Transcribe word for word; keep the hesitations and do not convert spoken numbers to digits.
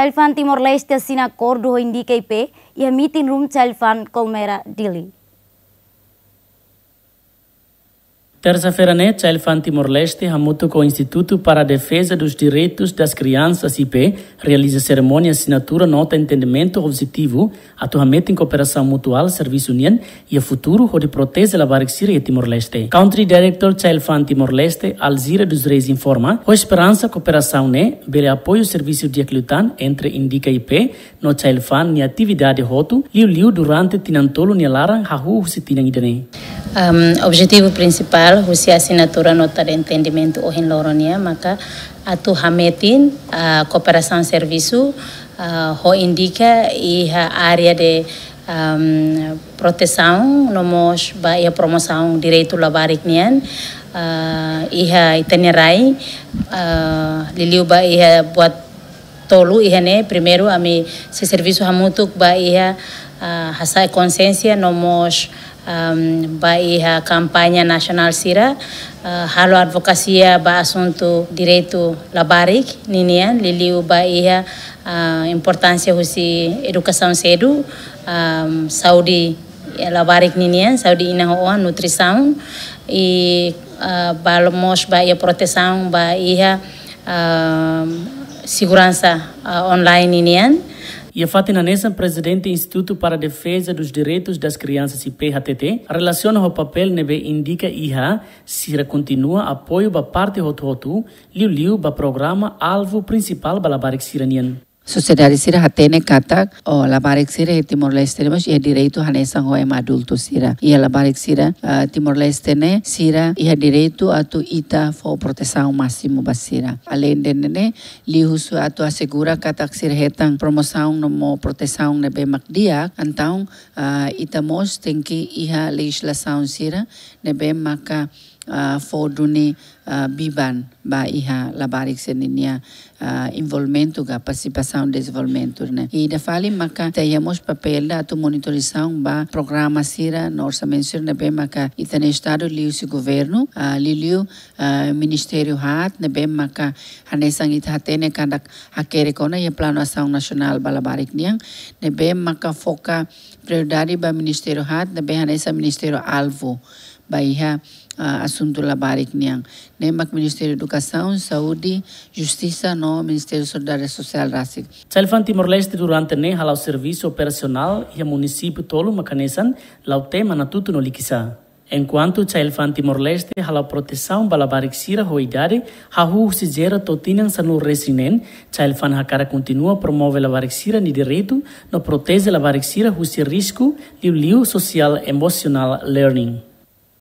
Child Fund Timor-Leste asina akordu ho INDICA I P iha meeting room Child Fund Colmera, Dili. Tersa-feira ne'e, Child Fund Timor-Leste hamutuk ho Instituto para a Defesa dos Direitos das Crianças, I P, realiza serimónia asinatura nota entendimentu objetivu atu hametin kooperasaun mutuál servisu nian iha futuru hodi proteje labarik sira iha Timor-Leste. Country Director Child Fund Timor-Leste, Alzira dos Reis, informa, ho esperansa kooperasaun ne'e bele apoiu servisu di'ak liután entre INDICA I P no Child Fund nia atividade hotu, liuliu durante tinan tolu nia laran hahú husi tinan ida-ne'e. Um, objetivu prinsipál husi asinatura nota de entendimentu ohin loron nian maka atu hametin, ah, kooperasaun servisu, ah, ho INDICA iha área de, um, protesaun no mós ba iha promosaun direitu labarik nian, ah, iha ita-nia rai, ah, liuliu ba iha buat tolu iha ne'e. Primeiru, ami sei servisu hamutuk ba iha, ah, hasa'e konsiénsia no mós, am, ba iha kampaña nasionál sira, ah, halo advokasia ba asuntu direitu labarik ninian, liuliu ba iha, ah, importánsia husi edukasaun sedu, am, saúde labarik ninian, saúde inan ho oan, nutrisaun, i, ah, ba mós ba iha protesaun ba iha, ah, seguransa, ah, online ninian. Iha fatin hanesan, Prezidente Instituto para a Defesa dos Direitos das Crianças, I P, hateten, relasiona ho papél ne'ebé INDICA iha, sira kontinua apoiu ba parte hotu-hotu, liuliu ba programa alvu prinsipál ba labarik sira nian. Sosiedade sira hatene katak, o, labarik sira iha Timor-Leste ne'e mós iha direitu hanesan ho ema adultu sira. Iha labarik sira, ah, Timor-Leste ne'e, sira iha direitu atu ita fó protesaun másimu ba sira. Aleinde ne'e, liuhusi atu asegura katak sira hetan promosaun no mós protesaun ne'ebé mak di'ak, entaun, ah, ita mós tenke iha lejizlasaun sira ne'ebé maka, ah, fó duni, ah, biban ba iha labarik sira ninia, ah, envolvimentu ka partisipasaun dezenvolvimentu ne'e. I ida fali maka ita iha mós papél ida atu monitorizasaun ba programa sira no orsamentu sira ne'ebé maka ita-nia Estadu liuhusi governu, ah, liuliu, ah, ministériu haat ne'ebé maka hanesan ita hatene katak hakerek ona iha Planu Asaun Nasionál ba Labarik nian, ne'ebé maka foka prioridade ba ministériu haat ne'ebé hanesan ministériu alvu ba iha, ah, asuntu labarik nian. Ne'e mak Ministériu Edukasaun, Saúde, Justisa no Ministériu Solidariedade Sosiál rasik. Child Fund Timor-Leste durante ne'e hala'o servisu operasionál iha munisípiu tolu mak hanesan Lautém, Manatuto no Likisá. Enkuantu Child Fund Timor-Leste hala'o protesaun ba labarik sira ho idade hahú husi zero to'o tinan sanulu resin neen, Child Fund hakarak kontinua promove labarik sira-nia direitu no proteje labarik sira husi risku liuliu social emotional learning.